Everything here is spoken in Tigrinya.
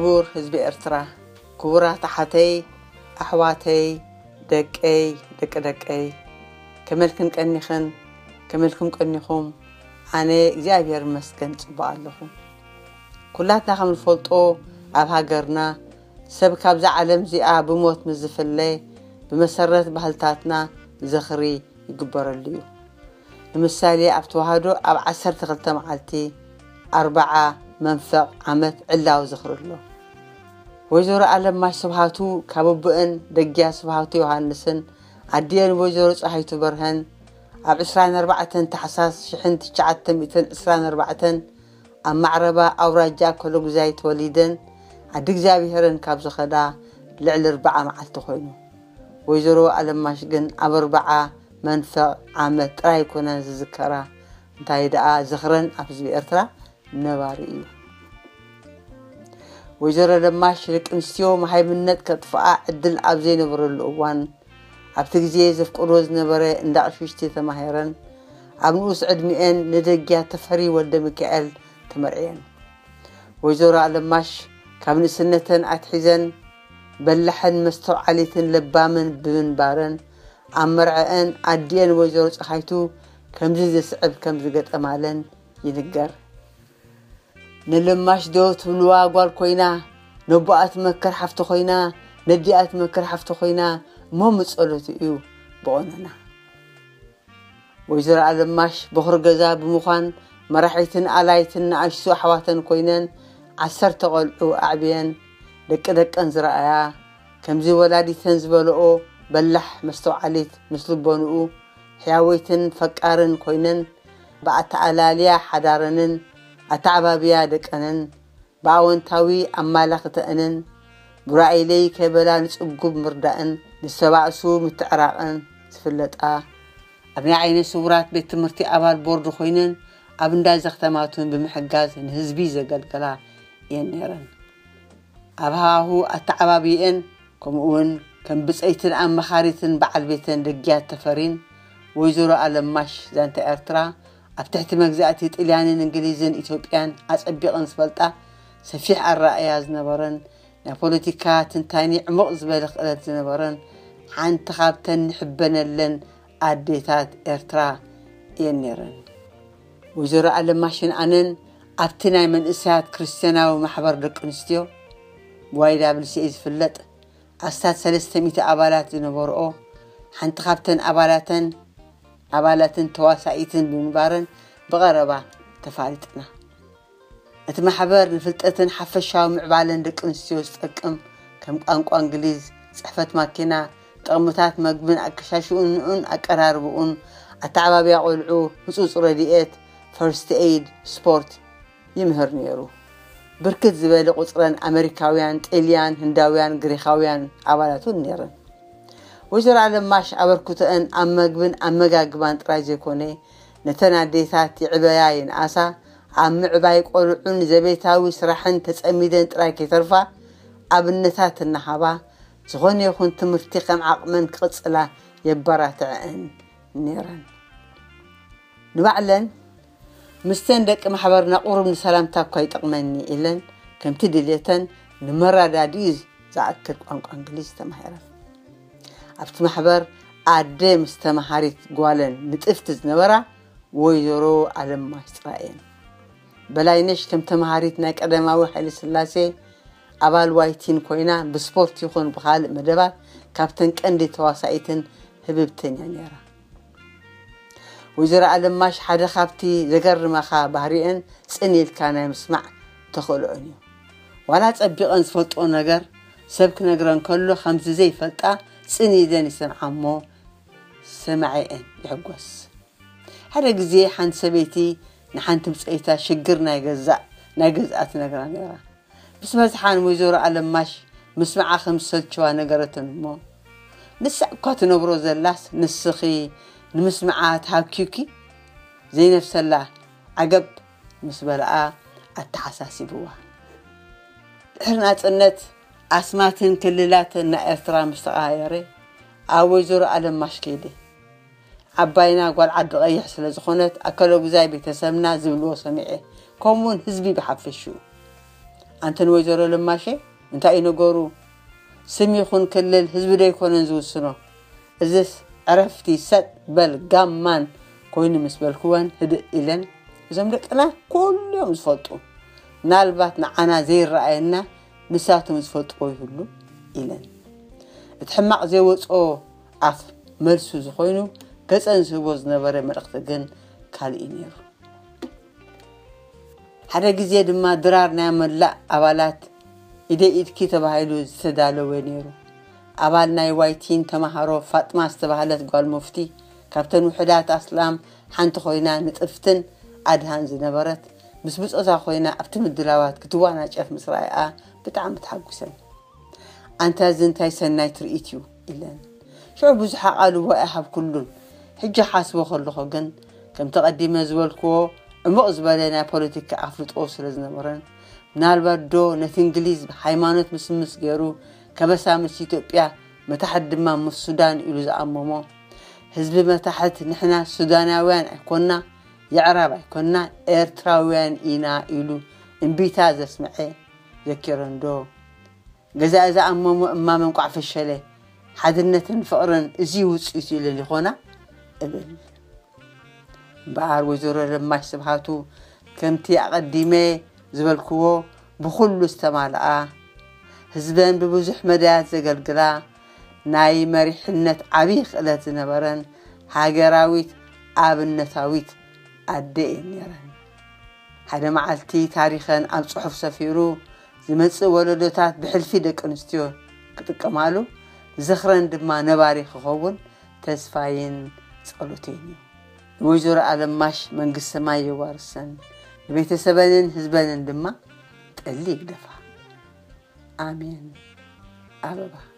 ክቡር ህዝቢ ኤርትራ፣ ክቡራት ኣሓተይ፣ ኣሕዋተይ፣ ደቀይ፣ ደቂ ደቀይ፣ ከመልክን ቀኒኽን፣ ከመልኩም ቀኒኹም፣ ኣነ እግዚኣብሔር ይመስገን ጽቡቕ ኣለኹ። ኩላትና ከም ንፈልጦ፣ ኣብ ሃገርና ሰብ ካብዛ ዓለም እዚኣ ብሞት ምስ ዝፍለ፣ ብመሰረት ባህልታትና ዝኽሪ ይግበረሉ እዩ። ንምሳሌ፣ ኣብ ተዋህዶ ኣብ ዓሰርተ ክልተ መዓልቲ ኣርብዓ መንፈቕ ዓመት ዕላዊ ዝኽሪ ኣሎ። ወይዘሮ ኣለማሽ ስብሃቱ ካብ ኣቦአን ደግያ ስብሃቱ ዮሃንስን ኣዲአን ወይዘሮ ፀሃይቱ በርሀን ኣብ ዕስራን ኣርባዕተን ታሕሳስ ሽሕን ትሽዓተ ሚእትን ዕስራን ኣርባዕተን ኣብ ማዕረባ ኣውራጃ ኮሎጉዛይ ተወሊደን ዓዲ እግዚኣብሄረን ካብ ዝኸዳ ልዕሊ ኣርብዓ መዓልቲ ኮይኑ። ወይዘሮ ኣለማሽ ግን ኣብ ኣርብዓ መንፈቕ ዓመት ጥራይ ኣይኮነን ዝዝከራ፣ እንታይ ደኣ ዝኽረን ኣብ ህዝቢ ኤርትራ ነባሪ እዩ። ወይዘሮ ኣለማሽ ደቂ ኣንስትዮ መሃይምነት ከጥፍኣ ዕድል ኣብ ዘይነበረሉ እዋን፣ ኣብቲ ግዜ ዘፍቅዶ ዝነበረ እንዳ ኣቕሽሽቲ ተማሂረን፣ ኣብ ንኡስ ዕድሚኤን ንደግያ ተፈሪ ወልደ ሚካኤል ተመርዕየን። ወይዘሮ ኣለማሽ ካብ ንእስነተን ኣትሒዘን በላሕን መስተውዓሊትን ለባምን ብምንባረን፣ ኣብ መርዐአን ኣዲአን ወይዘሮ ፀሃይቱ ከምዚ ዝስዕብ ከም ዝገጠማለን ይንገር። ንለማሽ ዶ ትብልዋ ጓል ኮይና፣ ነቦኣ ትመክር ሓፍቲ ኮይና፣ ነዲኣ ትመክር ሓፍቲ ኮይና፣ እሞ ምጸሎቱ እዩ ብቐኖና። ወይዘሮ ኣለማሽ በኹሪ ገዛ ብምዃን፣ መራሒትን ኣላይትን ንኣሽቱ ኣሕዋተን ኮይነን፣ ዓሰርተ ቆልዑ ኣዕብየን፣ ደቂ ደቀን ዝረኣያ፣ ከምዚ ወላዲተን ዝበልኦ በላሕ መስተውዓሊት ምስ ልቦንኡ፣ ሕያወይትን ፈቃርን ኮይነን፣ ብኣተኣላልያ ሓዳረንን ኣተዓባብያ ደቀንን ብኣወንታዊ ኣማላኽተአንን ብራእይለይ ከይበላ ንጽጉብ ምርዳእን ንዝተባእሱ ምትዕራቕን ዝፍለጣ፣ ኣብ ናይ ዓይነ ስውራት ቤት ትምህርቲ ኣባል ቦርድ ኮይነን ኣብ እንዳ ዘኽተማቱን ብምሕጋዝ ንህዝቢ ዘገልገላ እየን ነይረን። ኣብ ሃዋሁ ኣተዓባብየን ከምኡውን ከም ብጸይትን ኣመኻሪትን በዓል ቤተን ደግያት ተፈሪን ወይዘሮ ኣለማሽ ዛንታ ኤርትራ ኣብ ትሕቲ መግዛእቲ ጥልያንን እንግሊዝን ኢትዮጵያን ኣጸቢቐን ዝፈልጣ ሰፊሕ ኣረኣእያ ዝነበረን ናይ ፖለቲካ ትንታኒ ዕሙቕ ዝበለ ክእለት ዝነበረን ሓንቲ ካብተን ንሕበነለን ኣዴታት ኤርትራ እየን ነይረን። ወይዘሮ ኣለማሽን ኣነን ኣብቲ ናይ መንእሰያት ክርስትያናዊ ማሕበር ደቂ ኣንስትዮ ብዋይ ዳብል ሲ ኤ ዝፍለጥ ኣስታት ሰለስተ ሚእቲ ኣባላት ዝነበርኦ ሓንቲ ካብተን ኣባላተን ኣባላትን ተዋሳኢትን ብምንባረን ብቐረባ ተፋሊጥና። እቲ ማሕበር ንፍልጠትን ሓፈሻዊ ምዕባለን ደቂ ኣንስትዮ ዝጠቅም ከም ቋንቋ እንግሊዝ፣ ጽሕፈት ማኪና፣ ጥቕምታት መግብን ኣከሻሽኡን ኣቀራርብኡን፣ ኣተዓባብያ ቆልዑ፣ ህጹጽ ረድኤት፣ ፈርስት ኤይድ፣ ስፖርት ይምህር ነይሩ። ብርክት ዝበለ ቁጽረን ኣመሪካውያን፣ ጥልያን፣ ህንዳውያን፣ ግሪኻውያን ኣባላት እውን ነይረን። ወይዘሮ ኣለማሽ ኣበርክቶአን ኣብ መግብን ኣመጋግባን ጥራይ ዘይኮነ፣ ነተን ኣዴታት ይዕበያ ይንኣሳ፣ ኣብ ምዕባይ ቆልዑን ዘቤታዊ ስራሕን ተጸሚደን ጥራይ ከይተርፋ ኣብነታት እናሃባ፣ ዝኾነ ይኹን ትምህርቲ ከም ዓቕመን ክቕጽላ የበራትዐአን ነይረን። ንባዕለን ምስተን ደቂ ማሕበርና ቁሩብ ንሰላምታ እኳ ይጠቕመኒ ኢለን ከምቲ ድልየተን ንመረዳድኢ ዝኣክል ቋንቋ እንግሊዝ ተማሂረን። ኣብቲ ማሕበር ኣደ ምስ ተማሃሪት ጓለን ንጥፍቲ ዝነበራ ወይዘሮ ኣለማሽ ጥራይ እየን። በላይነሽ ከም ተማሃሪት ናይ ቀዳማዊ ሃይለ ስላሴ ኣባል ዋይቲን ኮይና ብስፖርት ይኹን ብኻልእ መደባት ካብተን ቀንዲ ተዋሳኢትን ህብብትን እያ ነይራ። ወይዘሮ ኣለማሽ ሓደ ካብቲ ዘገርመኻ ባህሪአን ጽን ኢልካ ናይ ምስማዕ ተኽእሎአን እዩ። ዋላ ጸቢቐን ዝፈልጥኦ ነገር ሰብ ክነግረን ከሎ ከምዚ ዘይፈልጣ ጽን ኢለን ይሰምዓ እሞ ሰማዒአን ይሕጎስ። ሓደ ግዜ ሓንቲ ሰበይቲ ንሓንቲ ብጸይታ ሽግር ናይ ገዛእ ናይ ገዝኣ ትነግራ ነይራ። ምስ በዝሓ ንወይዘሮ ኣለማሽ ምስምዓ ከም ዝሰልችዋ ነገረተን እሞ፣ ንሳ እኳ ትነብሮ ዘላስ ንስኺ ንምስምዓ ተሃኪዩኪ ዘይነፍሰላ ዓገብ ምስ በልኣ ኣተሓሳሲብዋ። ድሕሪ ናጽነት ኣስማትን ክልላትን ናይ ኤርትራ ምስ ተቐያየረ ኣብ ወይዘሮ ኣለማሽ ከይደ። ዓባይና ጓል ዓዲ ቀይሕ ስለ ዝኾነት ኣከለጉዛይ ቤተሰብና ዝብልዎ ሰሚዐ፣ ከምኡውን ህዝቢ ብሓፈሽኡ። ኣንተን ወይዘሮ ለማሸ እንታይ እዩ ነገሩ? ስም ይኹን ክልል ህዝቢ ዶ ኣይኮነን ዝውስኖ? እዝስ ዕረፍቲ ሰጥ በል ጋማን ኮይኑ ምስ በልክወን ህድእ ኢለን፣ እዞም ደቅና ኩሉ እዮም ዝፈልጡ፣ ምናልባት ንዓና ዘይረኣየና ንሳቶም ዝፈልጥዎ ይህሉ ኢለን። እቲ ሕማቕ ዘይወፅኦ ኣፍ መልሱ ዝኾይኑ ገፀን ዝህቦ ዝነበረ መልእኽቲ ግን ካልእ እዩ ነይሩ። ሓደ ግዜ ድማ ድራር ናይ መላእ ኣባላት ኢደይ ኢድኪ ተባሂሉ ዝተዳለወ ነይሩ። ኣባል ናይ ዋይቲን ተማሃሮ ፋጥማ ዝተባህለት ጓል ሙፍቲ ካብተን ውሕዳት ኣስላም ሓንቲ ኮይና ንጥፍትን ኣድሃን ዝነበረት ምስ ብጾታ ኮይና ኣብቲ ምድላዋት ክትዋናጨፍ ምስ ረኣያ ብጣዕሚ ተሓጉሰን። ኣንታ እዚ እንታይ ሰናይ ትርኢት እዩ ኢለን። ሽዑ ብዙሕ ኣቓልቦ ኣይሃብኩሉን። ሕጂ ሓስቦ ከለኹ ግን ከምቲ ቀዲመ ዝበልክዎ ዕሙቕ ዝበለ ናይ ፖለቲካ ኣፍልጦ ስለ ዝነበረን ምናልባት ዶ ነቲ እንግሊዝ ሃይማኖት ምስምስ ገይሩ ከበሳ ምስ ኢትዮጵያ መታሕት ድማ ምስ ሱዳን ኢሉ ዝኣመሞ ህዝቢ መታሕት ንሕና ሱዳናውያን ኣይኮና የዕራብ ኣይኮና ኤርትራውያን ኢና ኢሉ እምቢታ ዘስምዐ ዘኪረን ዶ? ገዛ እዛ ኣመሞ እማመ እንቋዕ ፈሸለ። ሓድነትን ፍቕርን እዚ ውፅኢት ኢለን ይኾና እብል። እምበኣር ወይዘሮ ለማሽ ስብሃቱ ከምቲ ኣቐዲመ ዝበልክዎ ብኹሉ ዝተማልኣ ህዝበን ብብዙሕ መዳያት ዘገልግላ ናይ መሪሕነት ዓብዪ ክእለት ዝነበረን ሃገራዊት ኣብነታዊት ኣደ እየን ነይረን። ሓደ መዓልቲ ታሪኸን ኣብ ጽሑፍ ሰፊሩ ዝመጽእ ወለዶታት ብሕልፊ ደቂ ኣንስትዮ ክጥቀማሉ ዝኽረን ድማ ነባሪ ክኸውን ተስፋይን ጸሎተይን እዩ። ንወይዘሮ ኣለማሽ መንግስቲ ሰማይ የዋርሰን፣ ንቤተሰበንን ህዝበንን ድማ ጠሊ ይግደፋ። ኣሜን። ኣበባ።